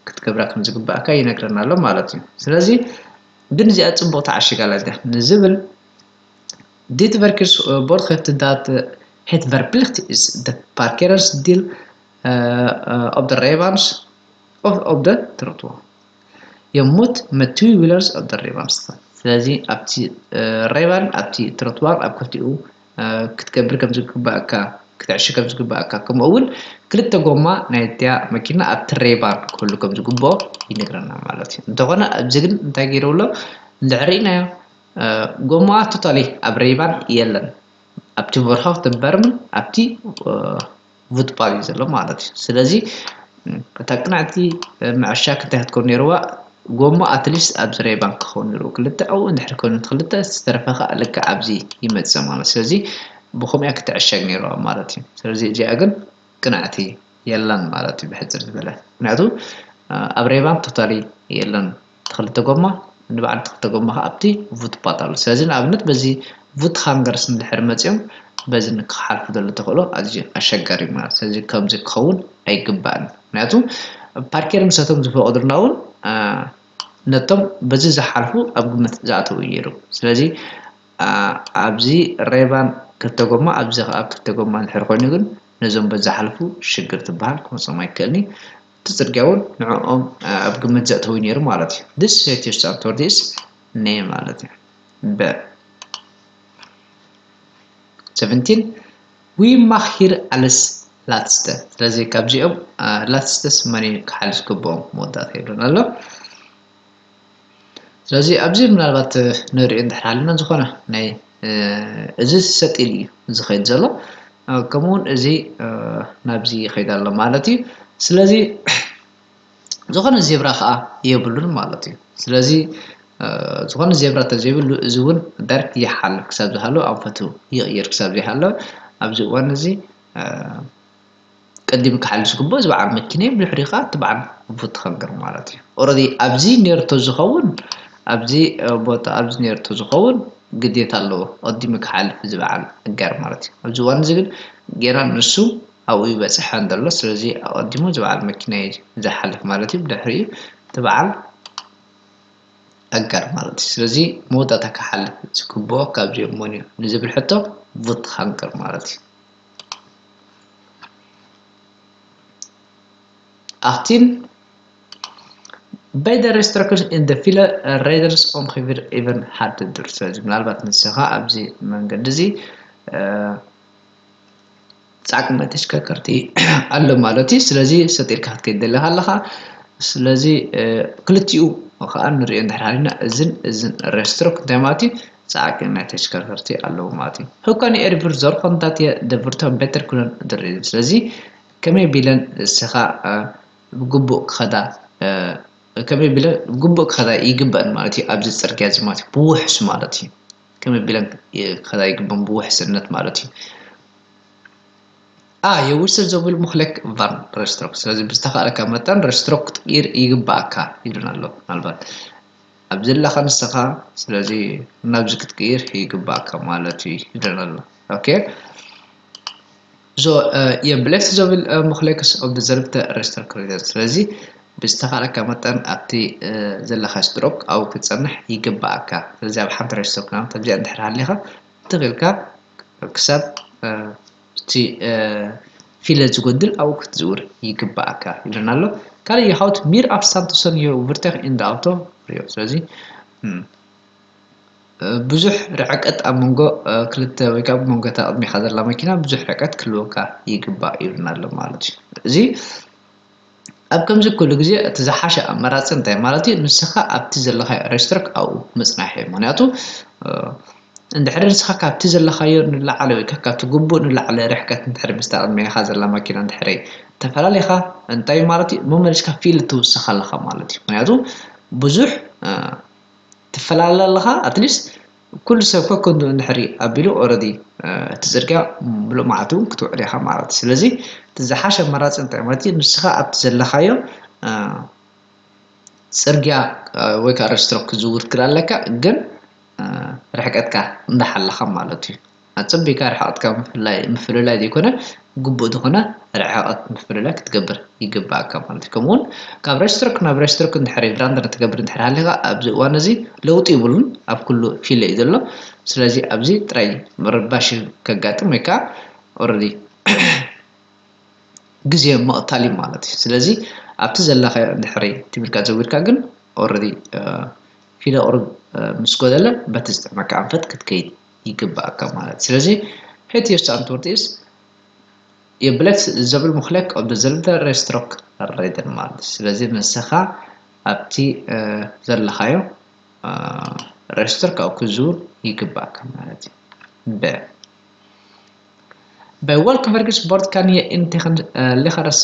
ክትገብራ ከም ዝግባእካ ይነግረና ኣሎ ማለት እዩ። ስለዚ ግን እዚኣ ፅቡቅ ተዓሽጋላ እዚኣ ንዝብል dit verkeersbord heeft dat het verplicht is de parkeren deel op de rijbaan of op de trottoir. Je moet met twee wielers op de rijbaan staan. ስለዚ ኣብቲ ሬባን ኣብቲ ትሮትዋር ኣብ ክልቲኡ ክትገብር ከም ዝግባእካ ክትዕሽ ከም ዝግባእካ ከምኡ እውን ክልተ ጎማ ናይ እቲያ መኪና ኣብቲ ሬባን ክህሉ ከም ዝግብኦ ይነግረና ማለት እዩ። እንተኾነ ኣብዚ ግን እንታይ ገይሩ ኣሎ እንድሕር ርኢናዮ ጎማ ቶታሊ ኣብ ሬባን የለን ኣብቲ ቨርሆክተበርምን ኣብቲ ፉትፓዝ እዩ ዘሎ ማለት እዩ። ስለዚ እታ ቅንዕቲ ምዕሻ ክንታይ ክትከውን ነይርዋ ጎማ ኣትሊስት ኣብዚ ሬባን ክኸውን ነይርዎ ክልተ ኣብኡ እንድሕር ኮይኑ ክልተ ዝተረፈ ከዓ ልክዕ ኣብዚ ይመፅእ ማለት ስለዚ ብኸምኡ እያ ክትዕሸግ ነይርዋ ማለት እዩ። ስለዚ እዚኣ ግን ቅንዕቲ የለን ማለት እዩ ብሕፅር ዝበለ ምክንያቱ ኣብ ሬባን ቶታሊ የለን። ክልተ ጎማ ንበዓል ክልተ ጎማ ከዓ ኣብቲ ፉትፓት ኣሎ። ስለዚ ንኣብነት በዚ ፉትጋንገርስ እንድሕር መፂኦም በዚ ንክሓልፉ ዘሎ ተኽእሎ ኣዝዩ ኣሸጋሪ እዩ ማለት ስለዚ ከምዚ ክኸውን ኣይግባእን። ምክንያቱ ፓርኬር ምሰቶም ዝፈቐዱልና እውን ነቶም በዚ ዝሓልፉ ኣብ ግምት ዝኣተው እዩ ነይሩ። ስለዚ ኣብዚ ሬባን ክልተ ጎማ ኣብዚ ከዓ ክልተ ጎማ እንድሕር ኮይኑ ግን ነዞም በዚ ዝሓልፉ ሽግር ትበሃል ክመፅኦም ኣይክእልኒ። እቲ ጽርግያ እውን ንዕኦም ኣብ ግምት ዘእተው ነይሩ ማለት እዩ። This situation for this name ማለት እዩ። በ seventeen we mag hier alles laatste ስለዚ ካብዚኦም ላትስተስ መን ክሓልፍ ዝግብኦም መወዳእታ ይብሉን ኣሎ። ስለዚ ኣብዚ ምናልባት ንሪኦ እንድሕር ሃልና ዝኾነ ናይ እዚ ሰጥ ኢሉ እዩ ዝኸይድ ዘሎ ከምኡውን እዚ ናብዚ ይኸይድ ኣሎ ማለት እዩ። ስለዚ ዝኾነ ዜብራ ከዓ የብሉን ማለት እዩ። ስለዚ ዝኾነ ዜብራ ተዘይብሉ እዚ እውን ዳይሬክት ይሓልፍ ክሳብ ዝሃለወ ኣንፈቱ ይቕይር ክሳብ ዘይሃለወ ኣብዚ እዋን እዚ ቀዲሙ ክሓልፍ ዝግብኦ እዚ በዓል መኪና እዩ። ብድሕሪኡ ከዓ እቲ በዓል ፉትጋንገር ማለት እዩ። ኦረዲ ኣብዚ ኔርቶ ዝኸውን ኣብዚ ቦታ ኣብዚ ኔርቶ ዝኸውን ግዴታ ኣለዎ ቀዲሙ ክሓልፍ እዚ በዓል ጋር ማለት እዩ። ኣብዚ እዋን እዚ ግን ጌና ንሱ ኣብኡ ይበፅሐ እንተሎ ስለዚ ኣቐዲሙ እዚ በዓል መኪና እዩ ዝሓልፍ ማለት እዩ። ብድሕሪኡ እቲ በዓል ኣጋር ማለት እዩ። ስለዚ መወዳእታ ክሓልፍ ዝግብኦ ካብዚኦም መን እዩ ንዝብል ሕቶ ፉትጋንገር ማለት እዩ። ኣኽቲን በይደ ሬስትራክሽን እንደ ፊለ ሬደርስ ኦምኺቪር ኢቨን ሃርድ ዱር ስለዚ ምናልባት ንስኻ ኣብዚ መንገዲ እዚ ጻዕቂ ናይ ተሽከርከርቲ ኣሎ ማለት እዩ። ስለዚ ሰጢርካ ክትከይድ ደለካ ኣለካ። ስለዚ ክልቲኡ ከዓ ንሪኦ እንድሕር ሃሊና እዝን እዝን ሬስትሮክ እንታይ ማለት እዩ? ጻዕቂ ናይ ተሽከርከርቲ ኣለዎ ማለት እዩ። Hur kan jeg erbjuda zorg om att de får en bättre kundupplevelse ስለዚ ከመይ ቢለን ንስኻ ብግቡእ ክኸዳ ከመይ ቢለን ብግቡእ ክኸዳ ይግበአን ማለት እዩ። ኣብዚ ፅርግያ እዚ ማለት እዩ ብውሕስ ማለት እዩ። ከመይ ቢለን ክኸዳ ይግበን ብውሕስነት ማለት እዩ። A je wissel zoveel mogelijk van rijstrook ስለዚ ብዝተኻእለካ መጠን ሬስትሮክ ክትቅይር ይግባእካ ይብለና ኣሎ። ምናልባት ኣብ ዘለኻ ንስኻ ስለዚ ናብዚ ክትቅይር ይግባእካ ማለት እዩ ይብለና ኣሎ። ኦኬ so je blijft zoveel mogelijk op dezelfde rijstrook rijden ስለዚ ብዝተኻእለካ መጠን ኣብቲ ዘለኻ ስትሮክ ኣብኡ ክትፀንሕ ይግባእካ። ስለዚ ኣብ ሓንቲ ሬስትሮክ ናብታ ኣብዚኣ እንድሕር ሃሊኻ ትኽእልካ ክሳብ እቲ ፊለ ዝጎድል ኣብኡ ክትዝውር ይግባእካ ይብለና ኣሎ። ካልእ የሃውት ሚር ኣፍስታንድ ቱሰን ዮ ቭርተክ ኢንደ ኣውቶ ሪዮ ስለዚ ብዙሕ ርሕቀት ኣብ መንጎ ክልተ ወይ ከዓ መንጎ እታ ቅድሚኻ ዘላ መኪና ብዙሕ ርሕቀት ክህልወካ ይግባእ ይብልና ኣሎ ማለት እዩ። እዚ ኣብ ከምዚ ኩሉ ግዜ እቲ ዝሓሸ ኣመራፂ እንታይ ማለት እዩ? ንስኻ ኣብቲ ዘለኻዮ ሬስትሮክ ኣብኡ ምፅናሕ እዩ። ምክንያቱ እንድሕሪ ንስኻ ካብቲ ዘለኻዮ ንላዕሊ ወይ ካብቲ ግቡእ ንላዕሊ ርሕቀት እንድሕሪ ምስታ ቅድሚኻ ዘላ መኪና እንድሕሪ ተፈላለኻ እንታይ ማለት እዩ? መመሊስካ ፊል ትውስኽ ኣለኻ ማለት እዩ። ምክንያቱ ብዙሕ ትፈላለ ኣለኻ ኣትሊስት ኩሉ ሰብ ከከንዱ እንድሕሪ ኣቢሉ ኦረዲ እቲ ፅርግያ ሙሉእ መዓልቲ እውን ክትውዕል ኢኻ ማለት እዩ። ስለዚ እቲ ዝሓሸ ኣማራፂ እንታይ ማለት እዩ? ንስኻ ኣብቲ ዘለኻዮ ፅርግያ ወይ ከዓ ሬስትሮክ ክዝውር ክል ኣለካ፣ ግን ርሕቀትካ እንዳሓለኻ ማለት እዩ። ኣፀቢካ ርሕቀትካ ምፍልላይ ዘይኮነ ግቡእ ዝኾነ ርሕቀት ምፍልላይ ክትገብር ይግባኣካ ማለት እዩ። ከምኡውን ካብ ሬስትሮክ ናብ ሬስትሮክ እንድሕር ሪብራንድ ትገብር እንድሕር ሃሊኻ ኣብዚ እዋን እዚ ለውጢ ይብሉን ኣብ ኩሉ ፊለ እዩ ዘሎ። ስለዚ ኣብዚ ጥራይ ምርባሽ ከጋጥም ወይ ከዓ ኦረዲ ግዜ ምቕታል እዩ ማለት እዩ። ስለዚ ኣብቲ ዘለኻዮ እንድሕሪ ትም ኢልካ ዘዊርካ ግን ኦረዲ ፊለ ቁሩብ ምስ ጎደለ በቲ ዝጥዕመካ ኣንፈት ክትከይድ ይግባኣካ ማለት እዩ። ስለዚ ሄት ዮስት ኣንትወርት ኢስ የብለክ ዘብል ምክለክ ኦብ ዘልደ ሬስትሮክ ረይደን ማለት እዩ። ስለዚ ንስኻ ኣብቲ ዘለኻዮ ሬጅስተር ካብኡ ክዝውር ይግባእካ ማለት እዩ። በ በይ ወልክ ቨርግስ ቦርድ ካን የኢንቴኽን ሊኸረስ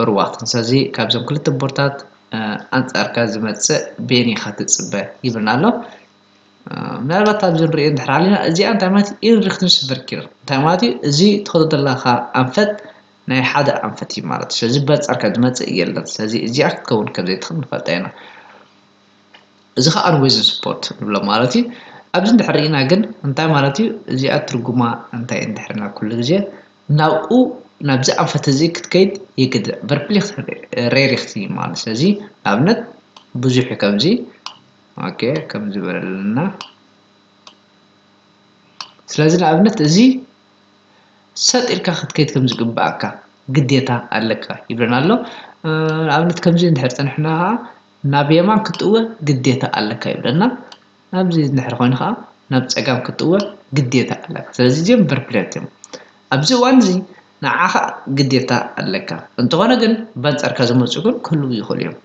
ሩዋኽትን። ስለዚ ካብዞም ክልተ ቦርታት ኣንጻርካ ዝመጽእ ቤን ኢኻ ትጽበ ይብልና ኣሎ። ምናልባት ኣብዚ ንሪኦ እንድሕር ሃሊና እዚኣ እንታይ ማለት እዩ? ኢንሪክትንስ ቨርኪር እንታይ ማለት እዩ? እዚ ትኸዶ ዘለኻ ኣንፈት ናይ ሓደ ኣንፈት እዩ ማለት እዩ። ስለዚ በንጻርካ ዝመጽእ የለን። ስለዚ እዚኣ ክትከውን ከም ዘይትኽእል ንፈልጣ ኢና። እዚ ከዓ ኣንዌዝን ስፖርት ንብሎ ማለት እዩ። ኣብዚ እንድሕር ርኢና ግን እንታይ ማለት እዩ? እዚኣ ትርጉማ እንታይ እንድሕርና ኩሉ ግዜ ናብኡ ናብዚ ኣንፈት እዚ ክትከይድ የግድዕ። ቨርፕሊክት ሬሪክት እዩ ማለት ስለዚ ንኣብነት ብዙሕ እዩ ከምዚ ኦኬ ከምዚ በለልና ስለዚ ንኣብነት እዚ ሰጥ ኢልካ ክትከይድ ከም ዝግባኣካ ግዴታ ኣለካ ይብለና ኣሎ። ንኣብነት ከምዚ እንድሕር ፀንሕና ከዓ ናብ የማን ክትጥወ ግዴታ ኣለካ ይብለና። ናብዚ እንድሕር ኮይኑ ከዓ ናብ ፀጋም ክትጥወ ግዴታ ኣለካ። ስለዚ እዚኦም ቨርፕሌት እዮም። ኣብዚ እዋን እዚ ንዓኻ ግዴታ ኣለካ። እንተኾነ ግን በንፃርካ ዝመፁ ግን ክህልው ይኽእሉ እዮም።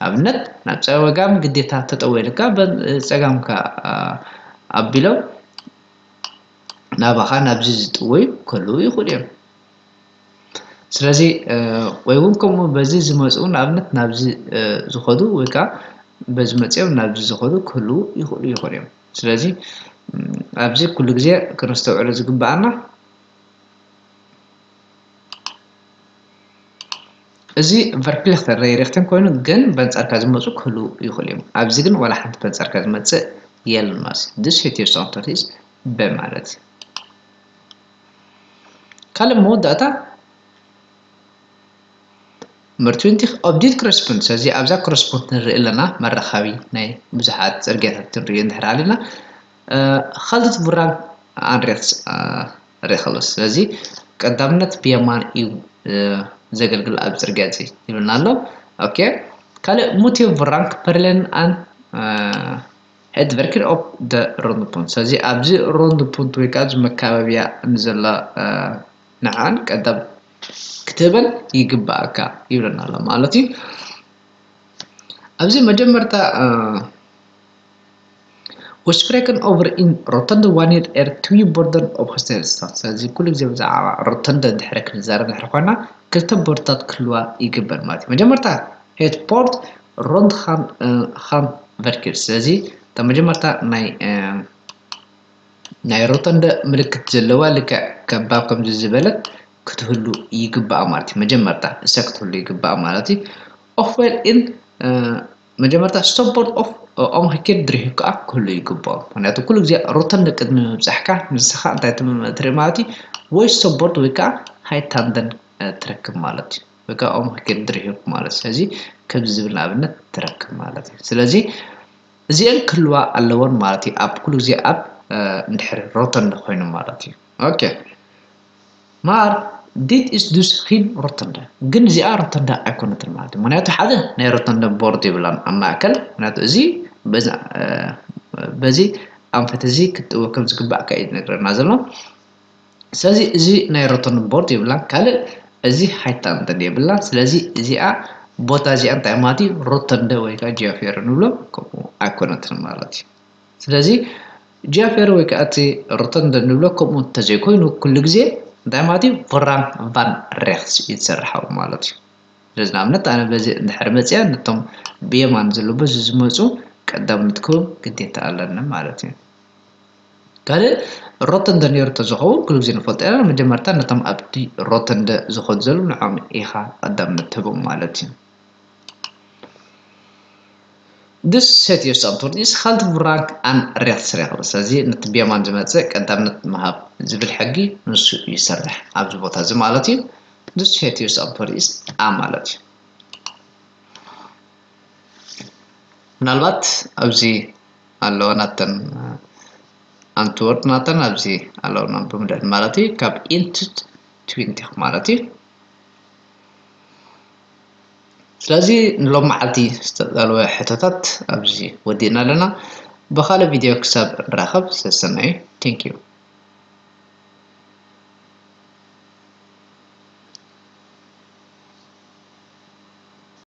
ኣብነት ናብ ፀጋም ግዴታ ተጠወ ኢልካ ፀጋምካ ኣቢሎም ናባኻ ናብዚ ዝጥወዩ ክህልዉ ይኽእሉ እዮም። ስለዚ ወይ እውን ከምኡ በዚ ዝመፁ ንኣብነት ናብዚ ዝኸዱ ወይ ከዓ በዚ መፅኦም ናብዚ ዝኸዱ ክህልዉ ይኽእሉ ይኽእሉ እዮም። ስለዚ ኣብዚ ኩሉ ግዜ ክነስተውዕሎ ዝግበኣና እዚ ቨርፕሊክተር ሬሪክትን ኮይኑ ግን በንጻርካ ዝመፁ ክህሉ ይኽእሉ እዮም። ኣብዚ ግን ዋላ ሓንቲ በንጻርካ ዝመፅእ የለን ማለት እዩ። This hit your sound is በማለት ካልእ መወዳእታ ምርትዊንቲ ኦብዲት ክረስፖንድ ስለዚ ኣብዛ ክረስፖንድ ንርኢ ኣለና መራኻቢ ናይ ብዙሓት ፅርግያታት ንርኢ እንድሕር ኣለና ካልድት ቡራን ኣንሬት ሬኸሎስ ስለዚ ቀዳምነት ብየማን እዩ ዘገልግል ኣብ ፅርግያ እዚ ይብልና ኣሎ። ኦኬ ካልእ ሙቲቭ ራንክ ፐርሌን ኣን ሄድ ቨርኪን ኦፍ ደ ሮንድ ፖንት ስለዚ ኣብዚ ሮንድ ፖንት ወይ ከዓ እዚ መካበብያ ንዘላ ንዓን ቀዳም ክትህበን ይግባኣካ ይብለና ኣሎ ማለት እዩ። ኣብዚ መጀመርታ ወስፕሬክን ኦቨር ኢን ሮተንደ ዋኒር ኤር ትዊ ቦርደን ኦብ ሆስቴል ስታት ስለዚ ኩሉ ግዜ ብዛዕባ ሮተንደ ድሕሪ ክንዛረብ ድሕሪ ኮይና ክልተ ቦርድታት ክህልዋ ይግበር ማለት እዩ። መጀመርታ ሄት ቦርድ ሮንድ ሃን ቨርኪር ስለዚ እታ መጀመርታ ናይ ናይ ሮተንደ ምልክት ዘለዋ ልክዕ ከባብ ከምዚ ዝበለት ክትህሉ ይግባኣ ማለት እዩ። መጀመርታ እሳ ክትህሉ ይግባኣ ማለት እዩ። ኦፍ ዌል ኢን መጀመርታ ስቶፖርት ኦፍ ኦምክኬድ ድሪሂ ከዓ ክህሉ ይግባኦ። ምክንያቱ ኩሉ ግዜ ሮተንደ ቅድሚ ምብፃሕካ ንስኻ እንታይ ትርኢ ማለት እዩ ወይ ስቶፖርት ወይ ከዓ ሃይት ሃንደን ትረክብ ማለት እዩ። ወይ ከዓ ኦምክኬድ ድሪሂ ማለት ስለዚ ከምዚ ዝብል ንኣብነት ትረክብ ማለት እዩ። ስለዚ እዚአን ክህልዋ ኣለወን ማለት እዩ ኣብ ኩሉ ግዜ ኣብ እንድሕር ሮተንደ ኮይኑ ማለት እዩ። ኦኬ ማር ዲት ኢስ ዱስ ኺን ሮተንደ ግን እዚኣ ሮተንደ ኣይኮነትን ማለት እዩ። ምክንያቱ ሓደ ናይ ሮተንደ ቦርድ ይብላን ኣብ ማእከል ምክንያቱ እዚ በዚ ኣንፈት እዚ ክትጥወ ከም ዝግባእ ከ እዩ ዝነግረና ዘሎ። ስለዚ እዚ ናይ ሮተንደ ቦርድ ይብላን ካልእ እዚ ሃይታንደን የብላን። ስለዚ እዚኣ ቦታ እዚኣ እንታይ ማለት እዩ ሮተንደ ወይ ከዓ ጂኦፌር ንብሎ ከምኡ ኣይኮነትን ማለት እዩ። ስለዚ ጂኦፌር ወይ ከዓ እቲ ሮተንደ ንብሎ ከምኡ እንተዘይኮይኑ ኩሉ ግዜ እንታይ ማለት እዩ ቮራን ቫን ሬክስ እዩ ዝሰርሓው ማለት እዩ። ስለዚ ንኣብነት ኣነ በዚ እንድሕር መፅያ ነቶም ብየማን ዘሎ በዚ ዝመፁ ቀዳምነት ክህቦም ግዴታ ኣለኒ ማለት እዩ። ካልእ ሮተንደ ነይሩ ተዝኸውን ኩሉ ግዜ ንፈልጦ ኢና። መጀመርታ ነቶም ኣብቲ ሮተንደ ዝኾኑ ዘለዉ ንዖም ኢኻ ቀዳምነት ትህቦም ማለት እዩ። This set your subtool is halt rank and rätt regel. ስለዚ ነቲ ብየማን ዝመጽእ ቀዳምነት ምሃብ ዝብል ሕጊ ንሱ ይሰርሕ ኣብዚ ቦታ እዚ ማለት እዩ። This set your subtool is a ማለት እዩ። ምናልባት ኣብዚ ኣለዋ ናተን ኣንትወርድ ናተን ኣብዚ ኣለውና ብምደል ማለት እዩ ካብ ኢንት ትዊንቲ ማለት እዩ። ስለዚ ንሎም መዓልቲ ዝተዳለወ ሕቶታት ኣብዚ ወዲእና ኣለና። ብኻልእ ቪድዮ ክሳብ ንራኸብ ሰሰናዩ። Thank you።